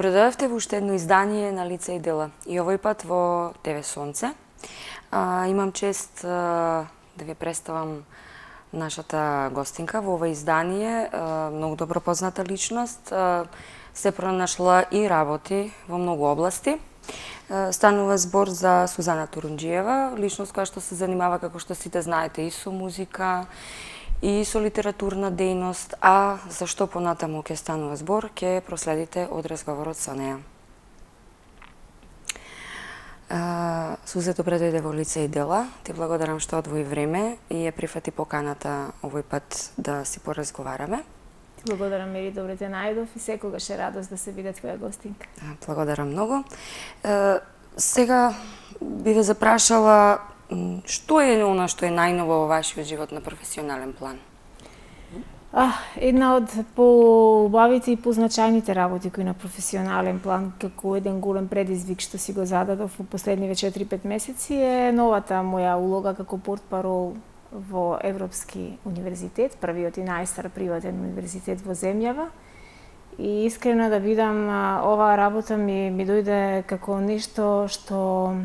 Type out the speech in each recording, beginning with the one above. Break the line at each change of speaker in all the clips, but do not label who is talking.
Добредојавте во уште едно издание на Лица и дела. И овој пат во ТВ Сонце. Имам чест да ви представам нашата гостинка во ова издание, многу добро позната личност, се пронашла и работи во многу области. Станува збор за Сузана Турунџиева, личност која што се занимава, како што сите знаете, и со музика, и со литературна дејност, а зашто понатаму ќе станува збор, ќе проследите од разговорот со неа. Сузе, добре дојде во Лица и дела. Ти благодарам што одвои време и ја прифати поканата овој пат да си поразговараме.
Благодарам, Мери, добре те најдов и секогаш е радост да се биде твоја гостинка.
Благодарам многу. Сега би ве запрашала што е она што е најново во вашиот живот на професионален план?
Една од поубавите и позначајните работи кои на професионален план, како еден голем предизвик што си го зададов во последниве 4-5 месеци, е новата моја улога како портпарол во Европски универзитет, првиот и најстар приватен универзитет во земјава. И искрено да бидам, оваа работа ми дојде како нешто што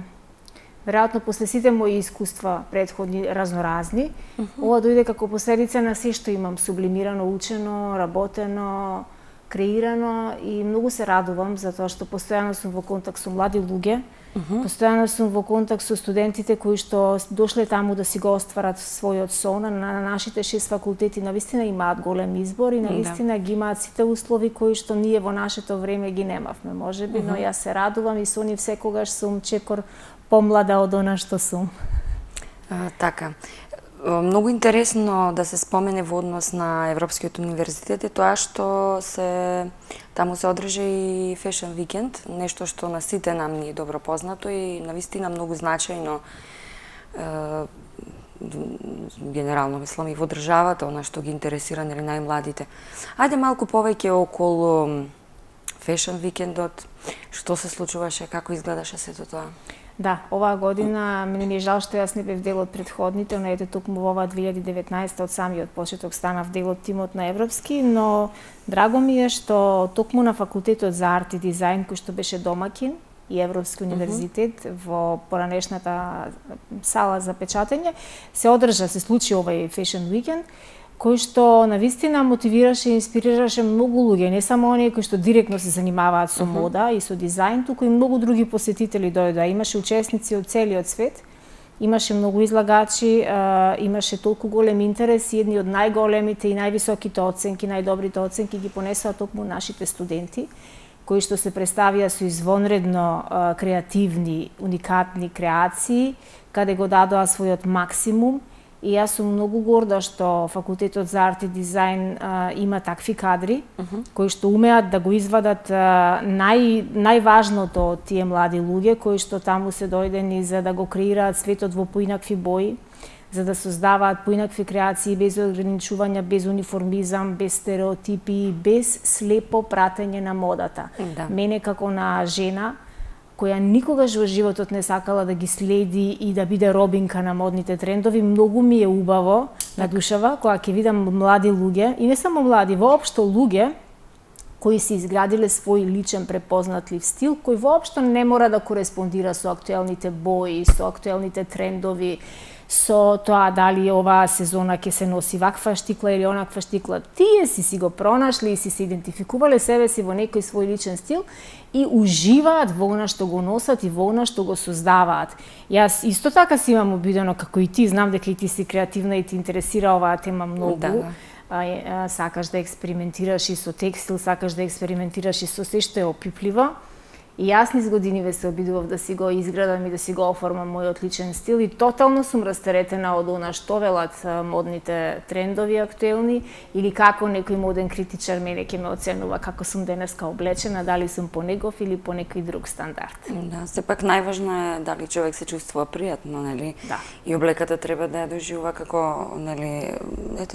веројатно после сите мои искуства претходни разноразни, ова дојде како последица на се што имам сублимирано, учено, работено, креирано и многу се радувам за тоа што постојано сум во контакт со млади луѓе, постојано сум во контакт со студентите кои што дошле таму да си го остварат својот сон. На нашите 6 факултети навистина имаат голем избор и навистина ги имаат сите услови кои што ние во нашето време ги немавме, можеби, но јас се радувам и со нив секогаш сум чекор помлада од она што сум.
Така. Многу интересно да се спомене во однос на Европскиот универзитет е тоа што таму се одржа и Fashion Weekend, нешто што на сите нам ни е добро познато и навистина многу значајно генерално мислам и во државата, она што ги интересира нели најмладите. Ајде малку повеќе околу Fashion Weekendот, што се случуваше, како изгледаше сето тоа?
Да, оваа година ми е жал што јас не бев дел од претходните, но ете токму во оваа 2019 од самиот почеток станав дел од тимот на Европски, но драго ми е што токму на факултетот за арт и дизајн кој што беше домакин и Европски универзитет во поранешната сала за печатење се случи овај Fashion Weekend, кој што навистина мотивираше и инспирираше многу луѓе, не само оние кои што директно се занимаваат со мода и со дизајн, туку и многу други посетители дојдоа. Имаше учесници од целиот свет, имаше многу излагачи, имаше толку голем интерес и едни од најголемите и највисоките оценки, најдобрите оценки ги понесоа токму нашите студенти, кои што се представија со извонредно креативни, уникатни креации, каде го дадоа својот максимум. И јас сум многу горда што факултетот за арт и дизајн има такви кадри кои што умеат да го извадат најважното од тие млади луѓе кои што таму се дојдени за да го креираат светот во поинакви бои, за да создаваат поинакви креации без ограничувања, без униформизам, без стереотипи, без слепо пратење на модата. Мене како на жена која никогаш во животот не сакала да ги следи и да биде робинка на модните трендови, многу ми е убаво на душава кога ќе видам млади луѓе, и не само млади, воопшто луѓе кои си изградиле свој личен препознатлив стил, кој воопшто не мора да кореспондира со актуелните бои, со актуелните трендови, со тоа дали оваа сезона ќе се носи ваква штикла или онаква штикла. Тие си го пронашли и си се идентификувале себе си во некој свој личен стил и уживаат во она што го носат и во она што го создаваат. Јас исто така си имам обидено, како и ти, знам дека и ти си креативна и ти интересира оваа тема многу. Сакаш да експериментираш и со текстил, сакаш да експериментираш и со се што е опипливо. И јас низ годиниве се обидував да си го изградам и да си го оформам мојот личен стил и тотално сум растеретена од она што велат модните трендови актуелни или како некој моден критичар мене ќе ме оценува како сум денеска облечена, дали сум по негов или по некој друг стандард.
Да, сепак најважно е дали човек се чувствува пријатно, нели?
Да.
И облеката треба да ја доживува како, нели,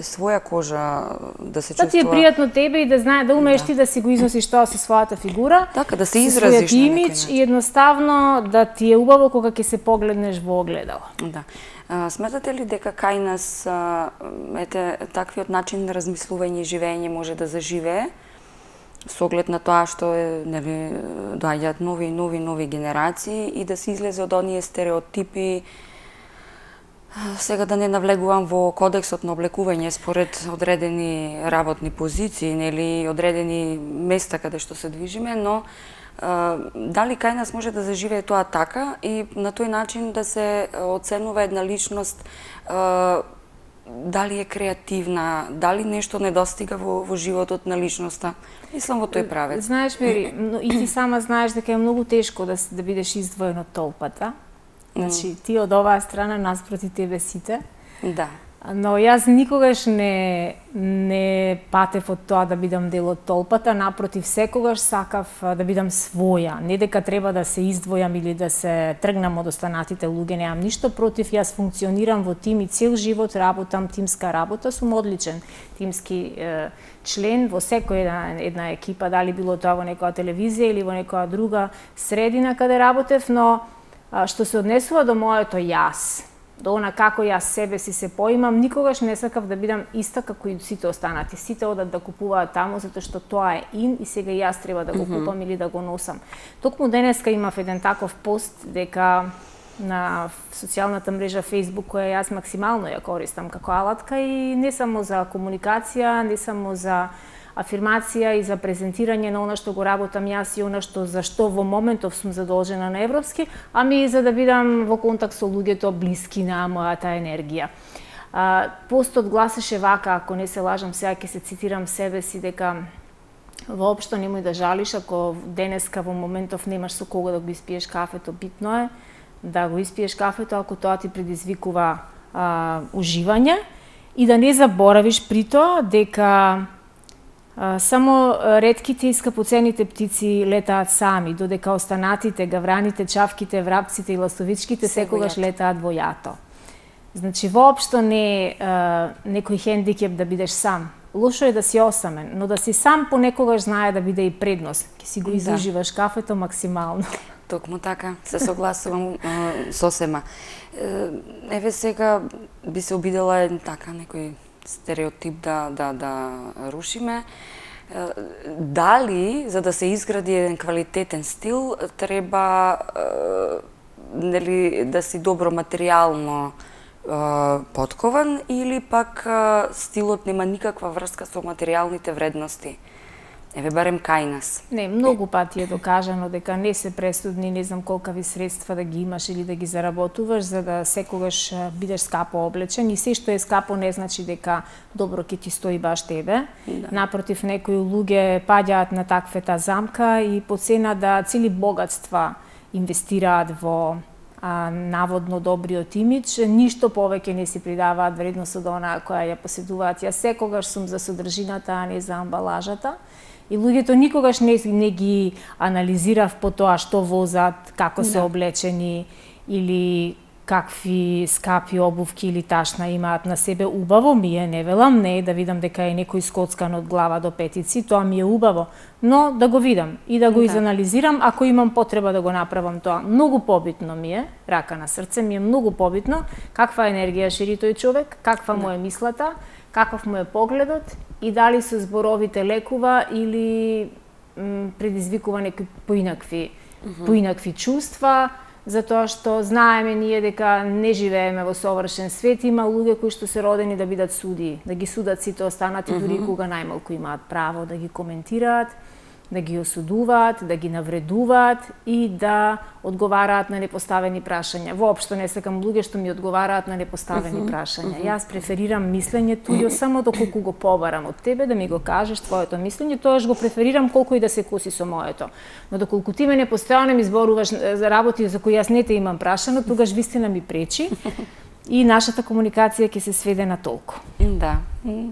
своја кожа, да се чувствува.
Да ти е пријатно тебе и да знае да умееш ти да си го износиш тоа со својата фигура.
Така да се изразиш
имидж и едноставно да ти е убаво кога ќе се погледнеш во огледало.
Да. Сметате ли дека кај нас таквиот начин на размислување и живење може да заживее со оглед на тоа што нели доаѓаат нови генерации и да се излезе од оние стереотипи. Сега да не навлегувам во кодексот на облекување според одредени работни позиции, нели одредени места каде што се движиме, но дали кај нас може да заживее тоа така и на тој начин да се оценува една личност, дали е креативна, дали нешто недостига во животот на личноста. Мислам во тој правец.
Знаеш, Мери, и ти сама знаеш дека е многу тешко да бидеш издвоен од толпата. Значи, ти од оваа страна, наспроти тебе сите.
Да.
Но јас никогаш не патев од тоа да бидам дел од толпата, напротив, секогаш сакав да бидам своја. Не дека треба да се издвојам или да се тргнам од останатите луѓе, немам ништо против, јас функционирам во тим и цел живот работам тимска работа, сум одличен тимски член во секоја една екипа, дали било тоа во некоја телевизија или во некоја друга средина каде работев, но што се однесува до моето јас, до она како јас себе си се поимам, никогаш не сакав да бидам иста како и сите останати. Сите одат да купуваат таму затоа што тоа е ин и сега јас треба да го купам или да го носам. Токму денеска имав еден таков пост дека на социјалната мрежа Facebook, која јас максимално ја користам како алатка и не само за комуникација, не само за афирмација и за презентирање на она што го работам јас и она што за што во моментов сум задолжена на европски, ами и за да бидам во контакт со луѓето блиски на мојата енергија. Постот гласеше вака, ако не се лажам, сега ќе се цитирам себе си, дека воопшто немој да жалиш ако денеска во моментов немаш со кого да го испиеш кафето, битно е да го испиеш кафето ако тоа ти предизвикува уживање и да не заборавиш при тоа дека само ретките и скапоцените птици летаат сами, додека останатите, гавраните, чавките, врапците и ластовичките секогаш летаат во јато. Значи, воопшто не е некој хендикеп да бидеш сам. Лошо е да си осамен, но да си сам понекогаш знае да биде и предност. Ке си го изуживаш кафето максимално.
Токму така, се согласувам сосема. Еве сега би се обидела така некој стереотип да рушиме. Дали, за да се изгради еден квалитетен стил, треба нели да си добро материјално поткован или пак стилот нема никаква врска со материјалните вредности? Еве барем кај нас.
Не, многу пати е докажано дека не се пресудни, не знам колкави средства да ги имаш или да ги заработуваш за да секогаш бидеш скапо облечен и се што е скапо не значи дека добро ќе ти стои баш тебе. Да. Напротив, некои луѓе паѓаат на таквата замка и по цена да цели богатства инвестираат во наводно добриот имидж, ништо повеќе не си придаваат вредност од она која ја поседуваат. Јас секогаш сум за содржината, а не за амбалажата. И луѓето никогаш не ги анализирав по тоа што возат, како се облечени или какви скапи обувки или ташна имаат на себе. Убаво ми е, не велам не, да видам дека е некој скоцкан од глава до петици, тоа ми е убаво, но да го видам и да го изанализирам ако имам потреба да го направам тоа. Многу побитно ми е, рака на срце, ми е многу побитно каква енергија шири тој човек, каква му е мислата, каков му е погледот и дали со зборовите лекува или предизвикува некои поинакви чувства, затоа што знаеме ние дека не живееме во совршен свет, има луѓе кои што се родени да бидат суди, да ги судат сите останати, дури кога најмалку имаат право да ги коментираат, да ги осудуваат, да ги навредуваат и да одговараат на непоставени прашања. Воопшто не сакам луѓе што ми одговараат на непоставени прашања. Јас преферирам мислењето и само доколку го побарам од тебе да ми го кажеш твоето мислење, тоаш го преферирам колку и да се коси со моето. Но доколку ти мене постојано ми зборуваш за работи за кои јас не те имам прашано, тогаш вистина ми пречи и нашата комуникација ќе се сведе на толку.
Да,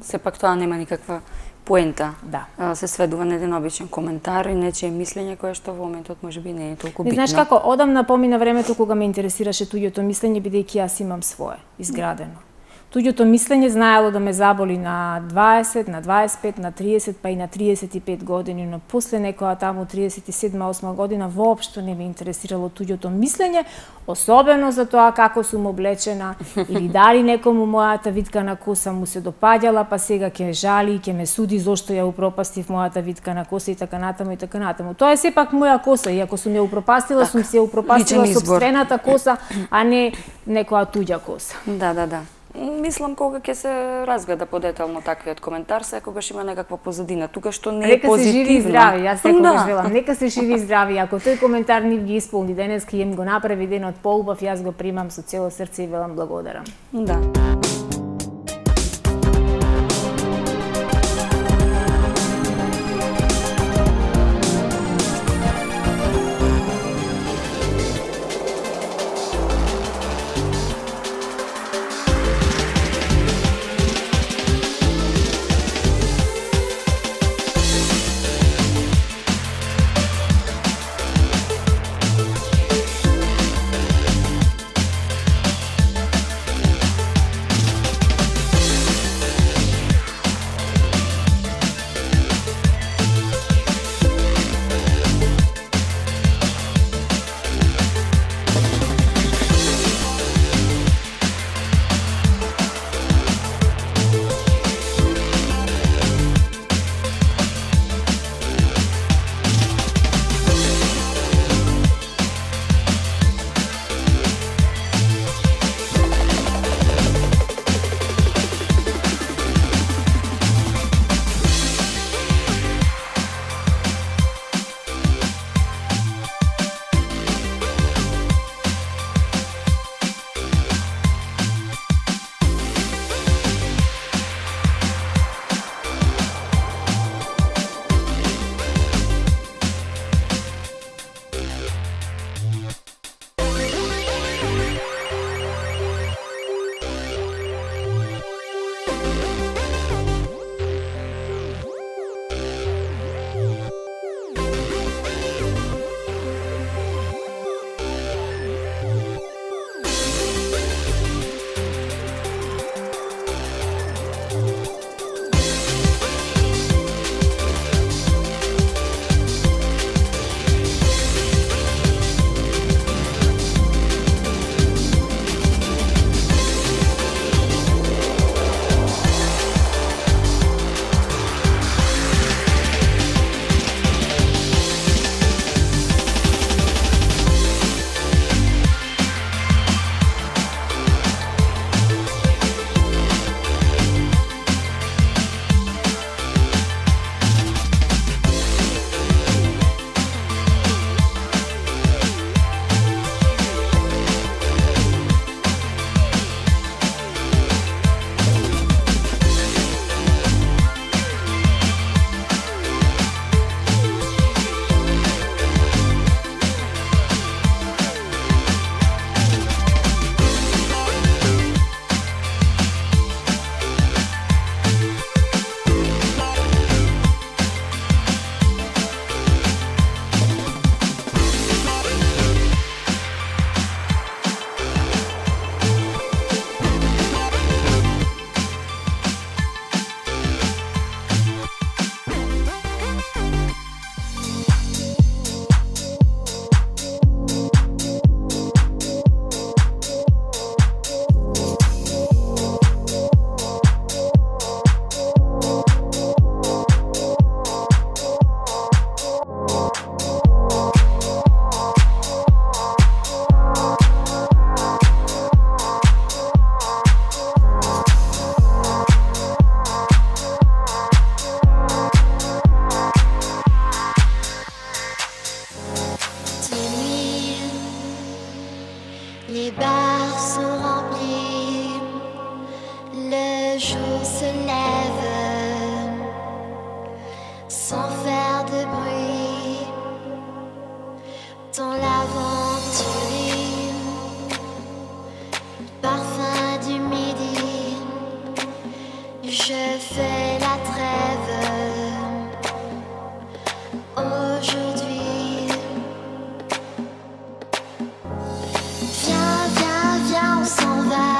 сепак тоа нема никаква поента.
Да.
Се сведува на еден обичен коментар и нечие мислење кое што во моментот можеби не е толку битно.
Знаеш како, одамна помина времето кога ме интересираше туѓото мислење, бидејќи јас имам свое, изградено. Туѓото мислење знаело да ме заболи на 20, на 25, на 30, па и на 35 години, но после некоја таму 37-8 година воопшто не ме интересирало туѓото мислење, особено за тоа како сум облечена или дали некому мојата виткана коса му се допаѓала, па сега ќе жали и ќе ме суди зошто ја упропастив мојата виткана коса и така натаму и така натаму. Тоа е сепак моја коса и ако сум ја упропастила, сум се упропастила сопствената коса, а не некоја туѓа коса.
Да. Мислам кога ќе се разгледа подетално таквиот коментар, секогаш има некаква позадина, тука што не е позитивно.
Нека се живи и здрави, јас секогаш велам, нека се живи и здрави. Ако тој коментар ни ги исполни денеска и им го направи денот поубав, јас го примам со цело срце и велам благодарам.
Да.
Les bars sont remplis, le jour se lève sans faire de bruit. Dans l'aventure, parfum du midi, je fais la trêve. Aujourd'hui, viens, viens, viens, on s'en va.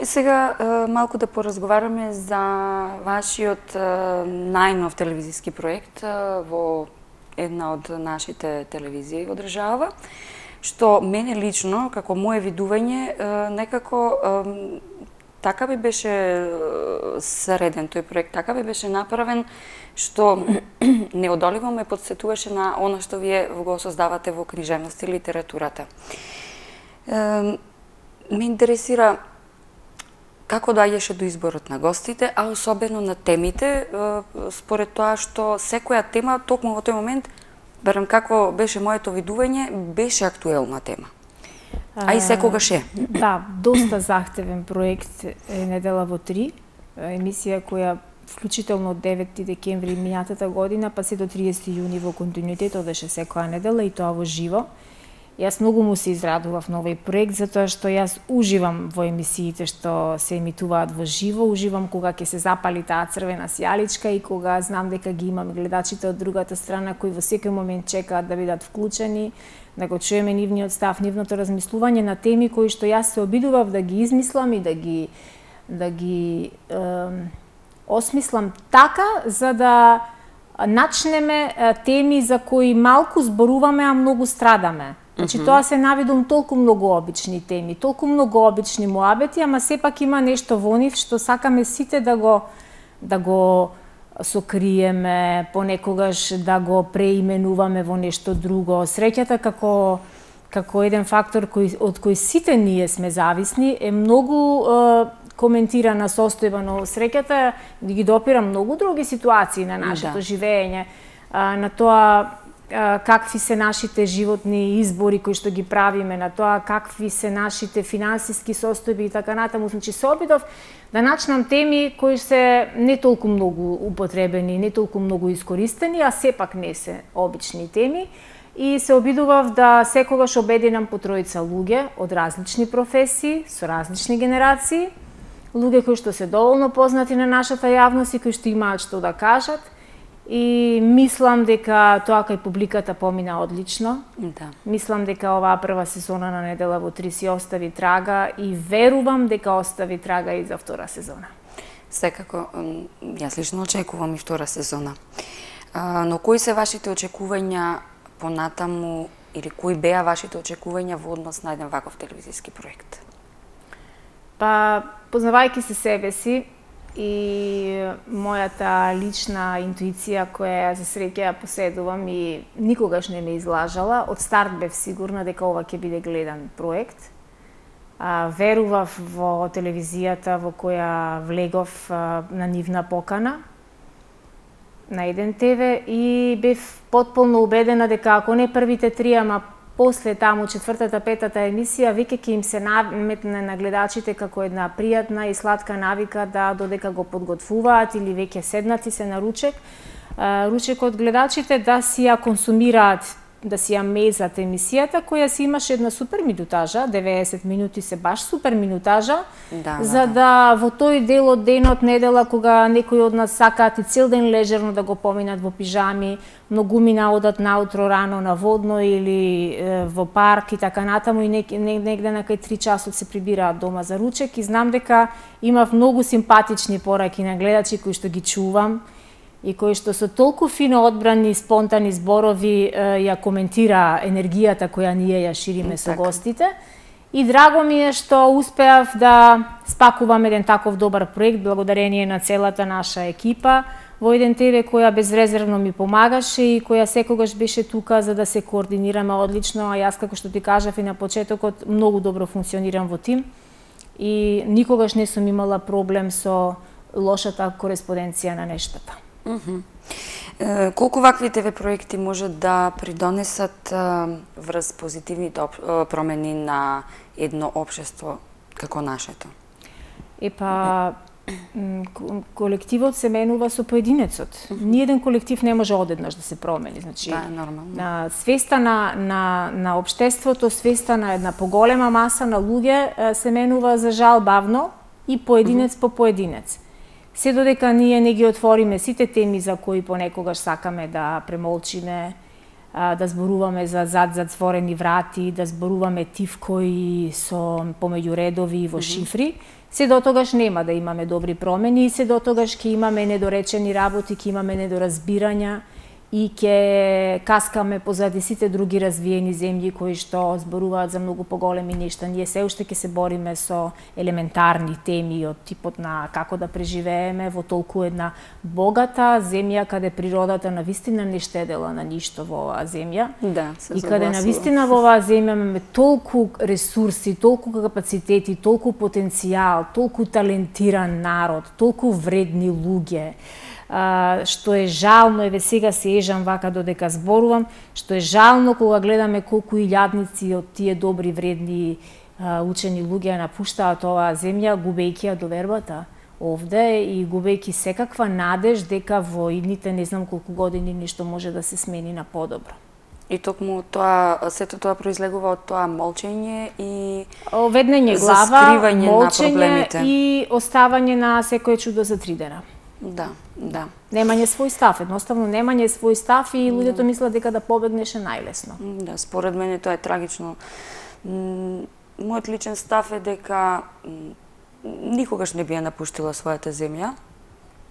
Сега малку да поразговараме за вашиот најнов телевизиски проект во една од нашите телевизии во држава, што мене лично, како мое видување, некако така би беше среден тој проект, така би беше направен, што неодоливо ме подсетуваше на она што вие го создавате во книжевност и литературата. Ме интересира како доаѓаше до изборот на гостите, а особено на темите, според тоа што секоја тема, токму во тој момент, барем како беше моето видување, беше актуелна тема. А и секогаш е.
Да, доста захтевен проект е Недела во 3, емисија која вклучително од 9 декември минатата година, па се до 30 јуни во континуитет одеше секоја недела и тоа во живо. Јас многу му се израдував на овој проект, затоа што јас уживам во емисиите што се емитуваат во живо, уживам кога ќе се запали таа црвена сјаличка и кога знам дека ги имам гледачите од другата страна кои во секој момент чекаат да бидат вклучени, да го чуеме нивниот став, нивното размислување на теми кои што јас се обидував да ги измислам и да ги осмислам така за да начнеме теми за кои малку зборуваме, а многу страдаме. Значи, тоа се навидум толку многу обични теми, толку многу обични муабети, ама сепак има нешто во нив што сакаме сите да го сокриеме, понекогаш да го преименуваме во нешто друго. Среќата како еден фактор од кој сите ние сме зависни е многу коментирана состојба, но среќата ги допира многу други ситуации на нашето живење, на тоа какви се нашите животни избори кои што ги правиме, на тоа какви се нашите финансиски состојби и така натаму. Значи се обидов да начнам теми кои се не толку многу употребени, не толку многу искористени, а сепак не се обични теми. И се обидував да секогаш обединам по тројца луѓе од различни професии, со различни генерации, луѓе кои што се доволно познати на нашата јавност и кои што имаат што да кажат. И мислам дека тоа кај публиката помина одлично.
Да.
Мислам дека оваа прва сезона на Недела во 3 си остави трага и верувам дека остави трага и за втора сезона.
Секако, јас лично очекувам и втора сезона. Но кои се вашите очекувања понатаму или кои беа вашите очекувања во однос на еден ваков телевизиски проект?
Па, познавајќи се себе си, и мојата лична интуиција која за среќа ја поседувам и никогаш не ме излажала, од старт бев сигурна дека ова ќе биде гледан проект. Верував во телевизијата во која влегов на нивна покана на еден ТВ и бев потполно убедена дека ако не првите 3, ама после таму четвртата, петата емисија, веќе ќе им се наметне на гледачите како една пријатна и сладка навика да додека го подготвуваат или веќе седнати се на ручек, ручекот гледачите да си ја консумираат, да си ја мезат емисијата која си имаше една супер минутажа, 90 минути се баш супер минутажа, за да во тој дел од денот, недела, кога некои од нас сакаат и цел ден лежерно да го поминат во пижами, многумина одат наутро рано на водно или во парк и така натаму и негде на кај 3 часот се прибираат дома за ручек и знам дека имав многу симпатични пораки на гледачи кои што ги чувам и кои што со толку фино одбрани спонтани зборови ја коментира енергијата која ние ја шириме со гостите. И драго ми е што успеав да спакувам еден таков добар проект благодарение на целата наша екипа во еден ТВ која безрезервно ми помагаше и која секогаш беше тука за да се координираме одлично, а јас како што ти кажав и на почетокот многу добро функционирам во тим и никогаш не сум имала проблем со лошата кореспонденција на нештата.
Колку вакви ТВ проекти може да придонесат врз позитивните промени на едно општество како нашето?
Епа, колективот се менува со поединецот. Ниеден колектив не може одеднаш да се промени. Значи,
нормално.
Свеста на општеството, свеста на една поголема маса на луѓе се менува за жал бавно и поединец по поединец. Се додека ние не ги отвориме сите теми за кои понекогаш сакаме да премолчиме, да зборуваме за зад затворени врати, да зборуваме тивкои со помеѓу редови и во шифри, се дотогаш нема да имаме добри промени и се дотогаш ќе имаме недоречени работи, ќе имаме недоразбирања и ќе каскаме позади сите други развиени земји кои што зборуваат за многу поголеми нешта. Ние се уште ќе се бориме со елементарни теми од типот на како да преживееме во толку една богата земја каде природата навистина не штедела на ништо во оваа земја.
Да,
и каде навистина во оваа земја имаме толку ресурси, толку капацитети, толку потенцијал, толку талентиран народ, толку вредни луѓе. Што е жално, еве сега се ежам вака додека зборувам, што е жално кога гледаме колку илјадници од тие добри, вредни учени луѓе напуштаат оваа земја, губејќи ја довербата овде и губејќи секаква надеж дека во идните не знам колку години нешто може да се смени на подобро.
И токму тоа, сето тоа произлегува од тоа молчење и
веднење глава,
скривање на проблемите
и оставање на секое чудо за 3 дена.
Да, да.
Немање свој став, едноставно немање свој став и луѓето мислат дека да побегнеше најлесно.
Да, според мене тоа е трагично. Мојот личен став е дека никогаш не би ја напуштила својата земја.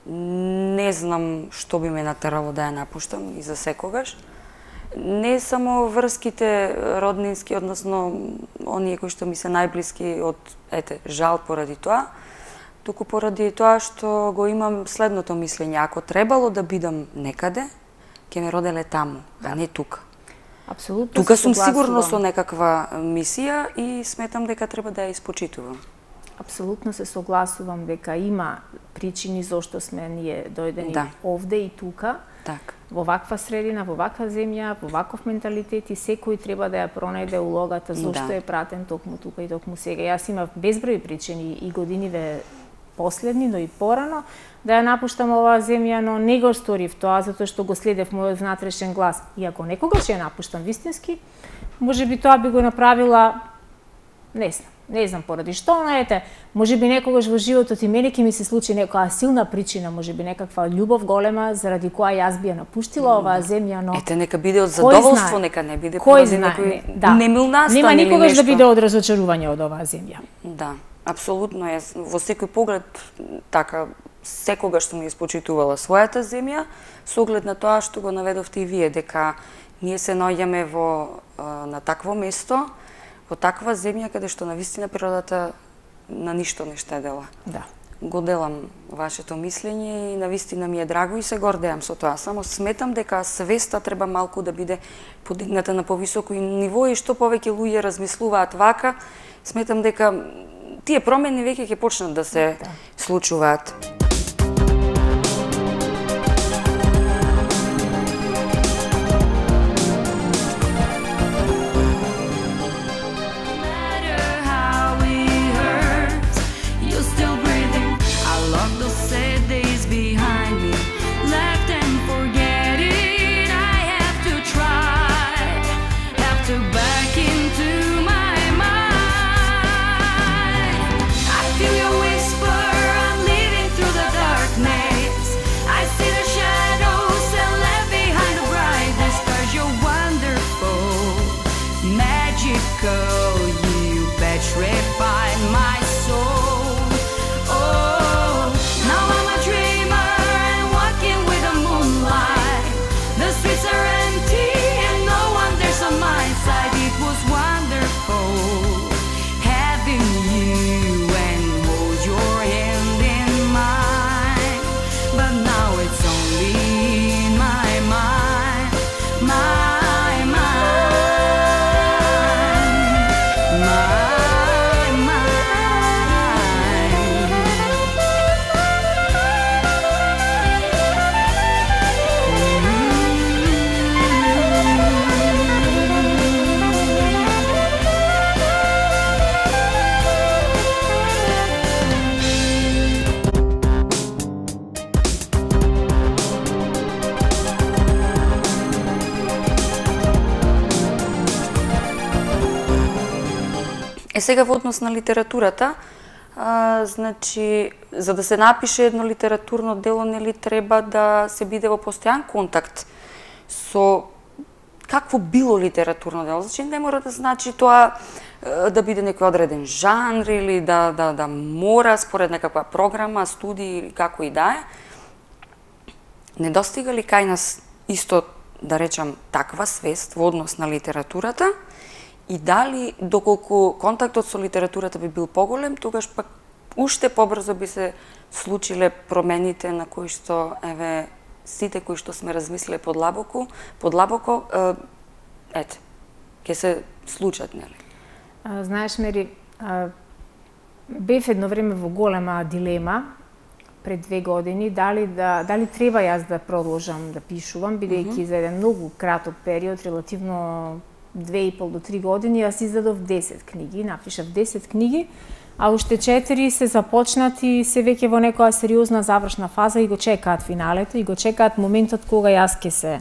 Не знам што би ме натерало да ја напуштам и за секогаш. Не само врските роднински, односно оние кои што ми се најблиски од жал поради тоа, туку поради тоа што го имам следното мислење. Ако требало да бидам некаде, ќе ме роделе таму, а не тука.
Апсолутно.
Тука сум сигурно со некаква мисија и сметам дека треба да ја испочитувам.
Апсолутно се согласувам дека има причини зошто сме ние дојдени овде и тука.
Так.
Во ваква средина, во ваква земја, во ваков менталитет и секој треба да ја пронајде улогата зошто е пратен токму тука и токму сега. Јас имав безброј причини и годиниве последни, но и порано, да ја напуштам оваа земја, но не го сторив тоа, затоа што го следев мојот внатрешен глас. И ако некогаш ја напуштам вистински, можеби тоа би го направила, не знам поради што, но можеби некогаш во животот и мене ќе ми се случи некоја силна причина, можеби некаква љубов голема, заради која јас би ја напуштила оваа земја, но...
Нека биде од задоволство, нека не биде поради некој немил настан или нешто.
Нема никогаш да биде од разочарување од оваа земја.
Да. Апсолутно, јас во секој поглед така секогаш сум ја испочитувала својата земја со оглед на тоа што го наведовте и вие, дека ние се наоѓаме на такво место, во таква земја каде што навистина природата на ништо не штедела.
Да.
Го делам вашето мислење и навистина ми е драго и се гордеам со тоа. Само сметам дека свеста треба малку да биде подигната на повисоко ниво и што повеќе луѓе размислуваат вака, сметам дека тие промени веќе ќе почнат да се случуваат. Сега во однос на литературата, значи, за да се напише едно литературно дело, нели треба да се биде во постојан контакт со какво било литературно дело. Значи, не мора да значи тоа да биде некој одреден жанр или да мора според некаква програма, студии или како и да е. Недостига ли кај нас исто, да речам, таква свест во однос на литературата и дали доколку контактот со литературата би бил поголем, тогаш пак уште побрзо би се случиле промените на кои што еве сите кои што сме размислиле подлабоко, ете, ќе се случат, нели?
Знаеш, Мери, бев едно време во голема дилема пред 2 години дали треба јас да продолжам да пишувам, бидејќи за еден многу краток период, релативно 2,5 до 3 години, јас издадов 10 книги, напишав 10 книги, а уште 4 се започнати, се веќе во некоја сериозна завршна фаза и го чекаат финалето и го чекаат моментот кога јас ќе се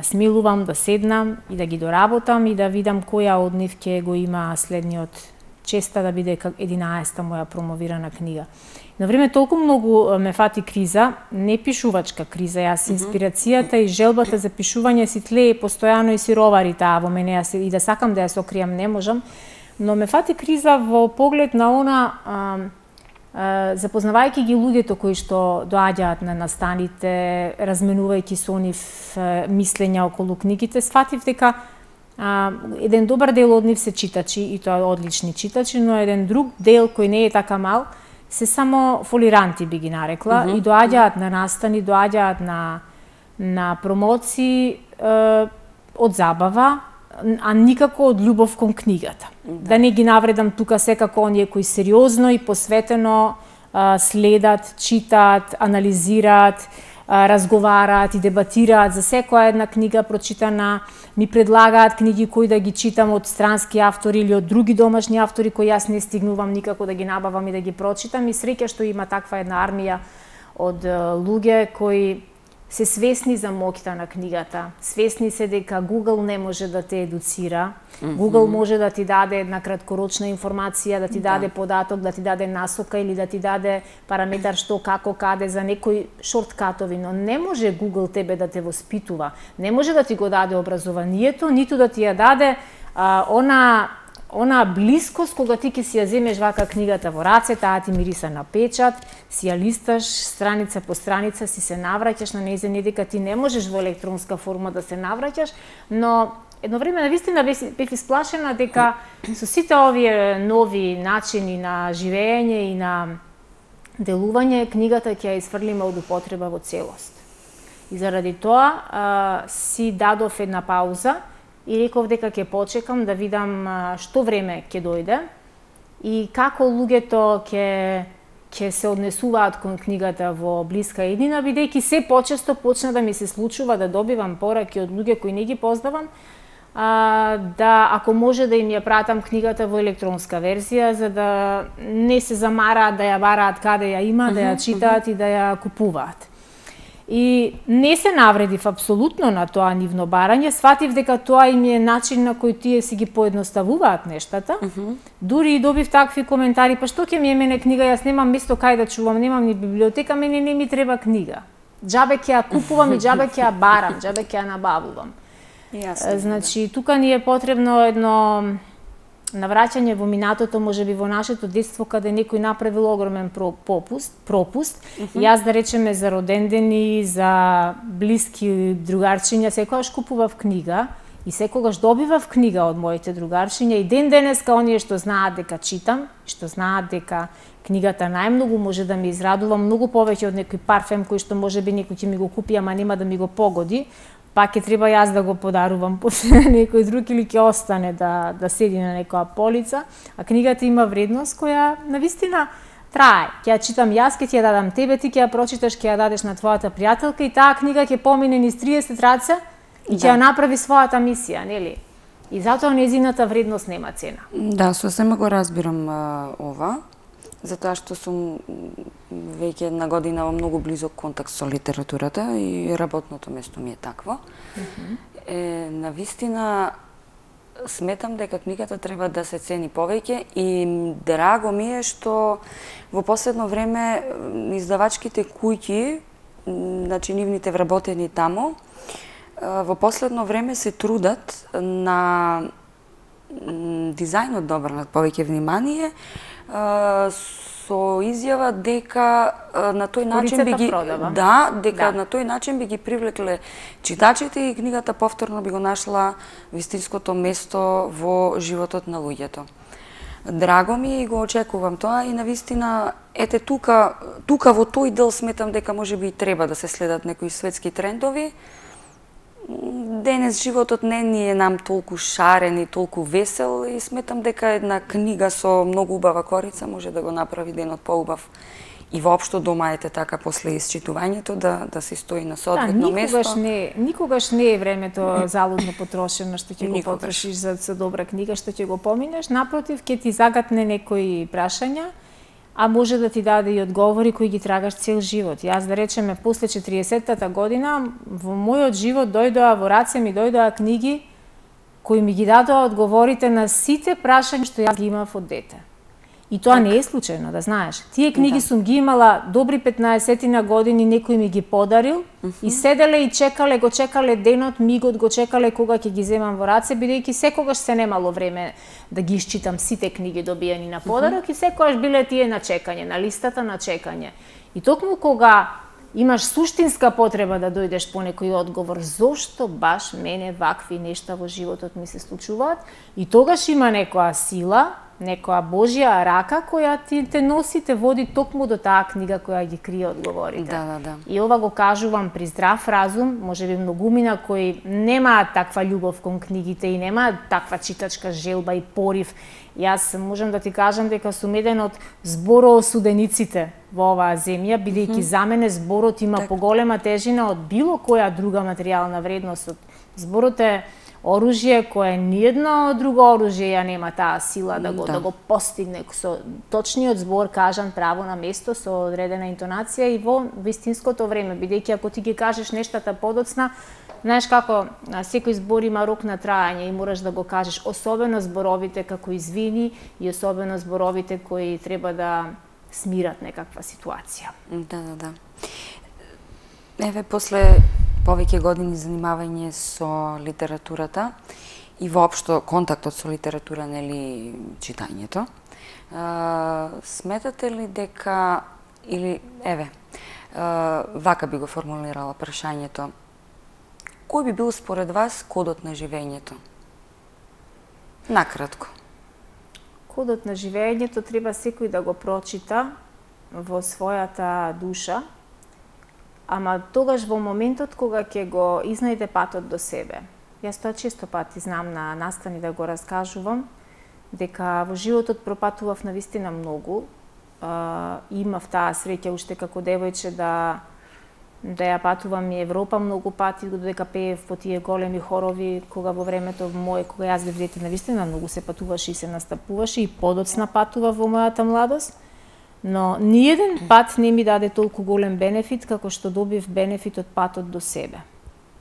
смилувам да седнам и да ги доработам и да видам која од нив ќе го има следниот честа да биде 11-та моја промовирана книга. На време толку многу ме фати криза, не пишувачка криза, јас инспирацијата и желбата за пишување си тлее постојано и си ровари таа во мене, и да сакам да ја сокријам не можам, но ме фати криза во поглед на она запознавајќи ги луѓето кои што доаѓаат на настаните, разменувајќи со нив мислења околу книгите, сфатив дека еден добар дел од нив се читачи и тоа одлични читачи, но еден друг дел кој не е така мал се само фолиранти би ги нарекла и доаѓаат на настани, доаѓаат на промоции од забава, а никако од љубов кон книгата. Да не ги навредам тука секако оние кои сериозно и посветено следат, читаат, анализираат, разговараат и дебатираат за секоја една книга прочитана, ми предлагаат книги кои да ги читам од странски автори или од други домашни автори кои јас не стигнувам никако да ги набавам и да ги прочитам, и среќа што има таква една армија од луѓе кои се свесни за моќта на книгата, свесни се дека Google не може да те едуцира, Google може да ти даде една краткорочна информација, да ти даде податок, да ти даде насока или да ти даде параметар што, како, каде, за некои шорткатови, но не може Google тебе да те воспитува, не може да ти го даде образованието, ниту да ти ја даде она блискост кога ти ќе си ја земеш вака книгата во раце, таа ти мириса на печат, си ја листаш страница по страница, си се навраќаш на нејзе, не дека ти не можеш во електронска форма да се навраќаш, но едно време навистина бев исплашена дека со сите овие нови начини на живење и на делување, книгата ќе ја изфрлиме од употреба во целост. И заради тоа си дадов една пауза и реков дека ќе почекам да видам што време ќе дојде и како луѓето ќе се однесуваат кон книгата во блиска иднина, бидејќи се почесто почна да ми се случува да добивам пораки од луѓе кои не ги познавам, да ако може да им ја пратам книгата во електронска верзија, за да не се замараат да ја бараат каде ја има, да ја читаат и да ја купуваат. И не се навредив апсолутно на тоа нивно барање, сватив дека тоа им е начин на кој тие си ги поедноставуваат нештата. Дури и добив такви коментари, па што ќе ми е мене книга, јас немам место кај да чувам, немам ни библиотека, мене не ми треба книга. Џабе ќе ја купувам и џабе ќе ја барам, џабе ќе ја набавувам. Значи, тука ни е потребно едно навраќање во минатото, можеби во нашето детство, каде некој направил огромен пропуст. Јас, да речеме, за родендени, за блиски другарчиња, секогаш купував книга и секогаш добивав книга од моите другарчиња и ден денеска оние што знаат дека читам, што знаат дека книгата најмногу може да ме израдува, многу повеќе од некој парфем кој што можеби некој ќе ми го купи, ама нема да ми го погоди, па ќе треба јас да го подарувам после некој друг или ќе остане да седи на некоја полица, а книгата има вредност која навистина трае. Ќе ја читам јас, ќе ти ја дадам тебе, ти ќе ја прочиташ, ќе ја дадеш на твојата пријателка и таа книга ќе помине низ 30 раце и ќе ја направи својата мисија, нели? И затоа нејзината вредност нема цена.
Да, сосема го разбирам ова, затоа што сум веќе една година во многу близок контакт со литературата и работното место ми е такво. Навистина сметам дека книгата треба да се цени повеќе и драго ми е што во последно време издавачките куќи, значи нивните вработени тамо, во последно време се трудат на дизајнот обрнат повеќе внимание со изјава дека на тој начин би ги
продава.
на тој начин би ги привлекле читачите и книгата повторно би го нашла вистинското место во животот на луѓето. Драго ми е и го очекувам тоа и навистина ете тука во тој дел сметам дека можеби и треба да се следат некои светски трендови. Денес животот не ни е нам толку шарен и толку весел и сметам дека една книга со многу убава корица може да го направи денот поубав. И воопшто дома ете така после исчитувањето да се стои на соодветно место.
Никогаш не е времето залудно потрошено што ќе го потрошиш за добра книга, што ќе го поминеш. Напротив, ќе ти загатне некои прашања, а може да ти даде и одговори кои ги трагаш цел живот. Јас да речеме после 40-тата година во мојот живот во раце ми дојдоа книги кои ми ги дадоа одговорите на сите прашања што јас ги имав од дете. И тоа не е случајно, да знаеш. Тие книги сум ги имала добри 15 години, некој ми ги подарил и седеле и го чекале денот, мигот го чекале кога ќе ги земам во раце, бидејќи секогаш се немало време да ги исчитам сите книги добиени на подарок и секогаш биле тие на чекање, на листата на чекање. И токму кога имаш суштинска потреба да дојдеш по некој одговор зошто баш мене вакви нешта во животот ми се случуваат, и тогаш има некоја сила, некоја Божја рака која те носи, те води токму до таа книга која ги крие одговорите.
Да.
И ова го кажувам при здрав разум, можеби многумина кои немаат таква љубов кон книгите и немаат таква читачка желба и порив. Јас можам да ти кажам дека сум еден од збороосудениците во оваа земја, бидејќи за мене зборот има поголема тежина од било која друга материјална вредност. Зборот е оружје кое ниедно друго оружје ја нема таа сила да го постигне со точниот збор, кажан право на место со одредена интонација и во вистинското време, бидејќи ако ти ги кажеш нештата подоцна, знаеш како секој збор има рок на траење и мораш да го кажеш, особено зборовите како извини и особено зборовите кои треба да смират некаква ситуација.
Да. Еве, после повеќе години занимавање со литературата и воопшто контактот со литература, нели, читањето, сметате ли дека, или, еве, вака би го формулирала прашањето, кој би бил според вас кодот на живењето? Накратко.
Кодот на живењето треба секој да го прочита во својата душа, ама тогаш во моментот кога ќе го изнајде патот до себе. Јас тоа често пати знам на настани да го раскажувам, дека во животот пропатував навистина многу. Имав таа среќа уште како девојче да ја патувам и Европа многу пати, додека пеев по тие големи хорови, кога во времето мое, кога јас бев дете, навистина многу се патуваше и се настапуваше и подоцна патува во мојата младост. Но ниеден пат не ми даде толку голем бенефит како што добив бенефит од патот до себе.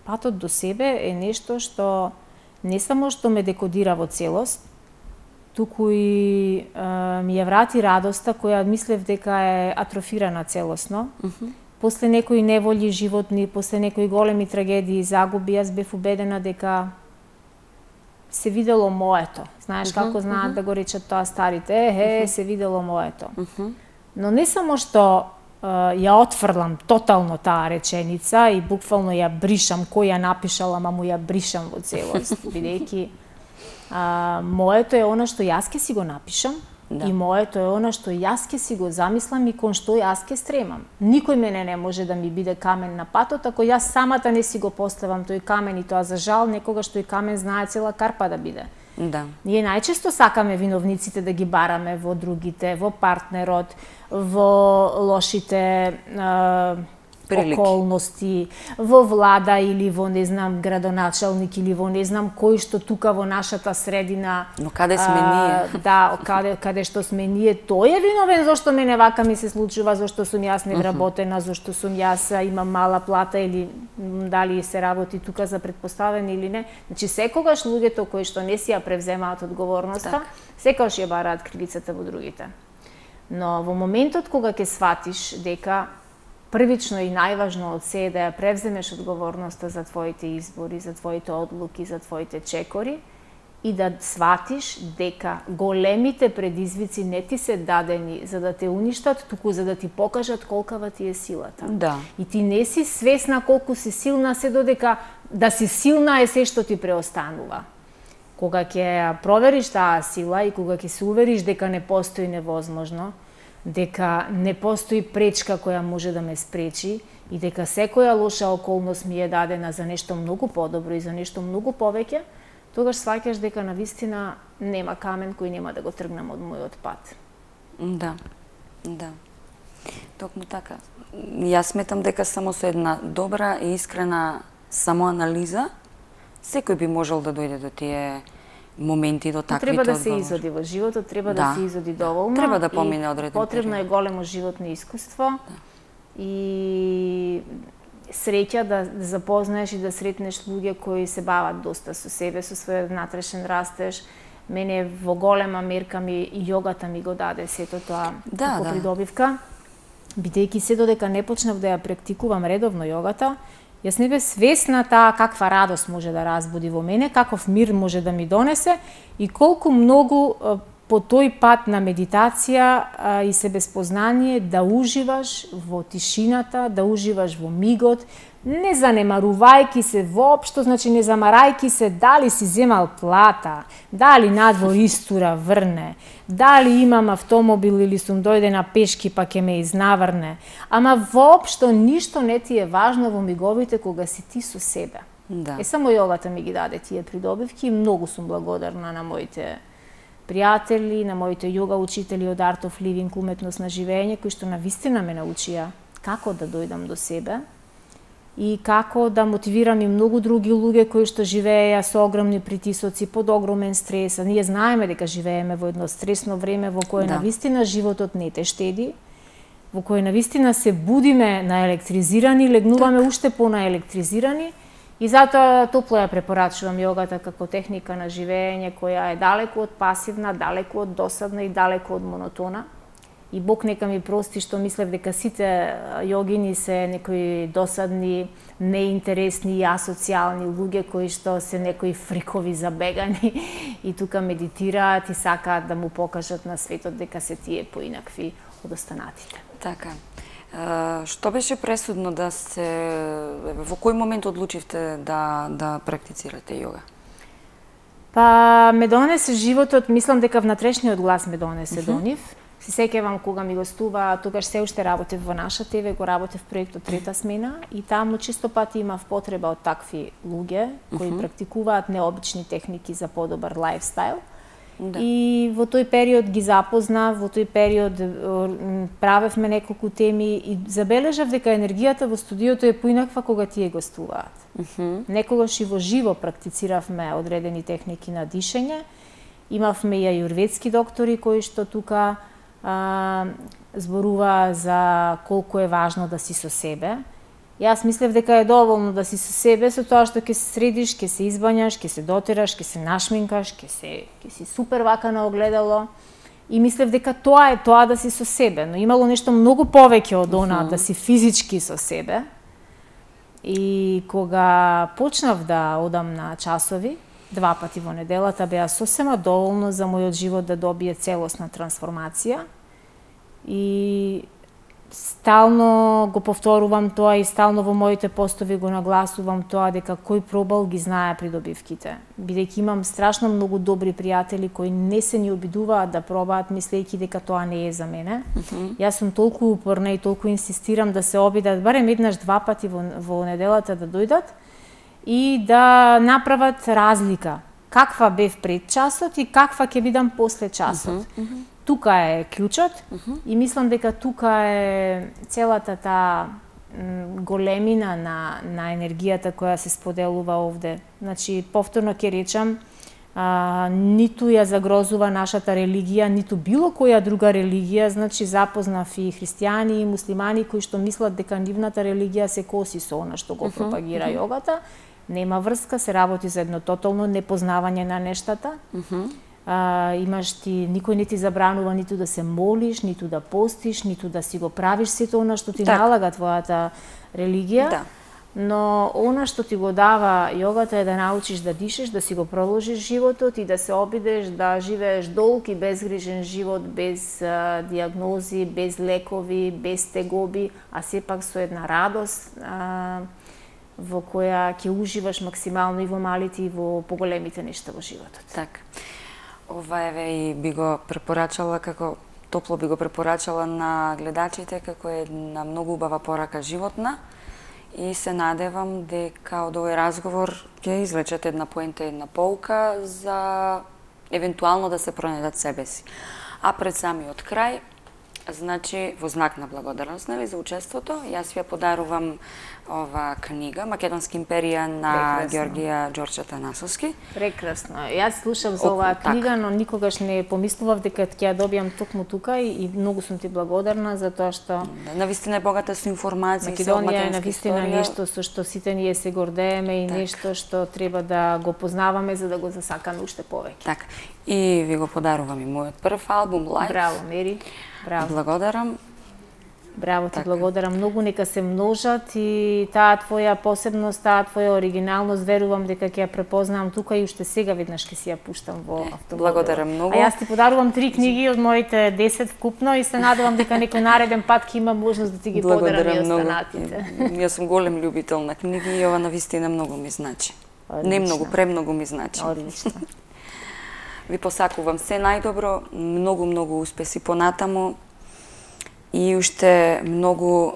Патот до себе е нешто што не само што ме декодира во целост, туку и ми ја врати радоста која мислев дека е атрофирана целосно. После некои неволји животни, после некои големи трагедии и загуби, јас бев убедена дека се видело моето. Знаеш како знаат да го речат тоа старите, се видело моето. Но не само што ја отфрлам тотално таа реченица и буквално ја бришам, кој ја напишала, ама му ја бришам во целост, бидејќи моето е она што јас ке си го напишам и моето е она што јас ке си го замислам и кон што јас ке стремам. Никој мене не може да ми биде камен на патот ако јас самата не си го поставам тој камен, и тоа за жал некогаш тој камен знае цела карпа да биде.
Да.
Ние најчесто сакаме виновниците да ги бараме во другите, во партнерот, во лошите околности, во влада или во, не знам, градоначалник или во не знам кој што тука во нашата средина.
Но каде сме ние?
Да, каде што сме ние, тој е виновен зашто мене вака ми се случува, зашто сум јас невработена, зашто сум јас имам мала плата или дали се работи тука за предпоставен или не. Значи секогаш луѓето кои што не си ја превземаат одговорноста, секогаш ја бараат кривицата во другите. Но во моментот кога ќе сватиш дека првично и најважно од се е да ја превземеш одговорноста за твоите избори, за твоите одлуки, за твоите чекори и да сватиш дека големите предизвици не ти се дадени за да те уништат, туку за да ти покажат колкава ти е силата.
Да.
И ти не си свесна колку си силна, се додека да си силна е се што ти преостанува. Кога ќе провериш таа сила и кога ќе се увериш дека не постои невозможно, дека не постои пречка која може да ме спречи и дека секоја лоша околност ми е дадена за нешто многу подобро и за нешто многу повеќе, тогаш сваќаш дека навистина нема камен кој нема да го тргнам од мојот пат.
Да, да. Токму така. Јас сметам дека само со една добра и искрена самоанализа секој би можел да дојде до тие моменти, до таквите
Треба да се
одговори.
изоди во животот, треба да се изоди доволно.
Треба да помине одреден
потребно
период.
е големо животно искуство и среќа да запознаеш и да сретнеш луѓе кои се бават доста со себе, со својот внатрешен растеж. Мене во голема мерка ми јогата ми го даде сето тоа како придобивка. Бидејќи се додека не почнав да ја практикувам редовно јогата, јас не бев свесна таа каква радост може да разбуди во мене, каков мир може да ми донесе и колку многу по тој пат на медитација и себеспознание да уживаш во тишината, да уживаш во мигот, не занемарувајки се воопшто, значи не замарајки се дали си земал плата, дали надвор истура врне, дали имам автомобил или сум дојдена пешки па ќе ме изнаврне, ама воопшто ништо не ти е важно во миговите кога си ти со себе.
Да.
Само јогата ми ги даде тие придобивки и многу сум благодарна на моите пријатели, на моите јога учители од Art of Living, уметност на живење, кои што навистина ме научија како да дојдам до себе и како да мотивирам и многу други луѓе кои што живееја со огромни притисоци, под огромен стрес. А ние знаеме дека живееме во едно стресно време во кое навистина животот не те штеди, во кое навистина се будиме наелектризирани, легнуваме уште понаелектризирани. И затоа топло ја препорачувам јогата како техника на живење која е далеку од пасивна, далеку од досадна и далеку од монотона. И Бог нека ми прости што мислев дека сите јогини се некои досадни, неинтересни и асоцијални луѓе кои што се некои фрикови забегани и тука медитираат и сакаат да му покажат на светот дека се тие поинакви од останатите.
Така. Што беше пресудно да се... Во кој момент одлучивте да практицирате јога?
Па ме донесе животот, мислам дека внатрешниот глас ме донесе до нив. Се сеќавам кога ми гостува, тогаш се уште работев во наша ТВ, го работев проектот Трета смена и таму чисто пати имав потреба од такви луѓе кои практикуваат необични техники за подобар лајфстайл.
Да.
И во тој период ги запознав, во тој период правевме неколку теми и забележав дека енергијата во студиото е поинаква кога тие гостуваат. Некогаш и во живо практициравме одредени техники на дишење. Имавме и ајурведски доктори кои што тука зборува за колку е важно да си со себе. Јас мислев дека е доволно да си со себе, со тоа што ќе се средиш, ќе се избањаш, ќе се дотераш, ќе се нашминкаш, ќе си супер вака на огледало. И мислев дека тоа е тоа да си со себе, но имало нешто многу повеќе од она да си физички со себе. И кога почнав да одам на часови, 2 пати во неделата, беа сосема доволно за мојот живот да добие целосна трансформација. И стално го повторувам тоа и стално во моите постови го нагласувам тоа дека кој пробал ги знае придобивките. Бидејќи имам страшно многу добри пријатели кои не се ни обидуваат да пробаат мислејќи дека тоа не е за мене. Јас сум толку упорна и толку инсистирам да се обидат барем еднаш 2 пати во неделата да дојдат и да направат разлика. Каква бев пред часот и каква ќе бидам после часот. Тука е клучот и мислам дека тука е целата таа големина на енергијата која се споделува овде. Значи, повторно ќе речам, ниту ја загрозува нашата религија, ниту било која друга религија, значи запознав и христијани и муслимани кои што мислат дека нивната религија се коси со она што го пропагира јогата. Нема врска, се работи за едно тотално непознавање на нештата. Имаш ти, никој не ти забранува ниту да се молиш, ниту да постиш, ниту да си го правиш сето она што ти налага твојата религија.
Да.
но она што ти го дава јогата е да научиш да дишеш, да си го продолжиш животот и да се обидеш да живееш долг и безгрижен живот, без диагнози, без лекови, без тегоби, а сепак со една радост во која ќе уживаш максимално и во малите и во поголемите нешта во животот.
Така. Ова еве и би го препорачала топло би го препорачала на гледачите како една многу убава порака животна и се надевам дека од овој разговор ќе извлечете една поента, една поука за евентуално да се пронајдат себе си. А пред самиот крај, значи во знак на благодарност за учеството, јас ви ја подарувам ова книга Македонска империја на Георгија Ѓорче Танасовски.
Прекрасно. Јас слушав за оваа книга, но никогаш не помислував дека ќе ја добијам токму тука и многу сум ти благодарна за тоа што
навистина е богата со информации,
Македонија е навистина нешто со што сите ние се гордееме и нешто што треба да го познаваме за да го засакаме уште повеќе.
Така. И ви го подарувам и мојот прв албум Live.
Браво, Мери. Браво.
Благодарам.
Браво ти, благодарам многу, нека се множат и таа твоја посебност, таа твоја оригиналност, верувам дека ќе ја препознавам тука и уште сега веднаш ќе си ја пуштам во автомобилот.
Благодарам многу.
А јас ти подарувам 3 книги од моите 10 вкупно и се надевам дека некој нареден пат ќе има можност да ти ги подарам и останатите.
Јас сум голем љубител на книги и ова навистина многу ми значи. Не многу, премногу ми значи.
Одлично.
Ви посакувам се најдобро, многу успеси понатаму и уште многу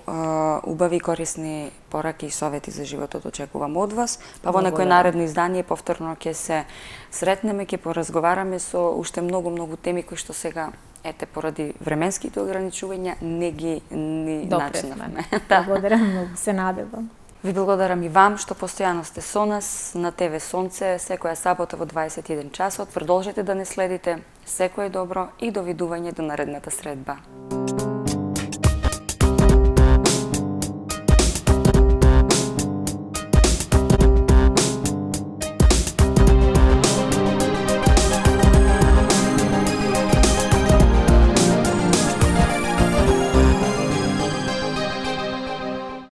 убави и корисни пораки и совети за животот очекувам од вас. Па во некој наредно издание повторно ќе се сретнеме, ќе поразговараме со уште многу теми кои што сега поради временските ограничувања не ги начнавме.
Благодарам многу, се надевам.
Ви благодарам и вам што постојано сте со нас на ТВ Сонце секоја сабота во 21 часот. Продолжете да не следите. Секое добро и довидување до наредната средба.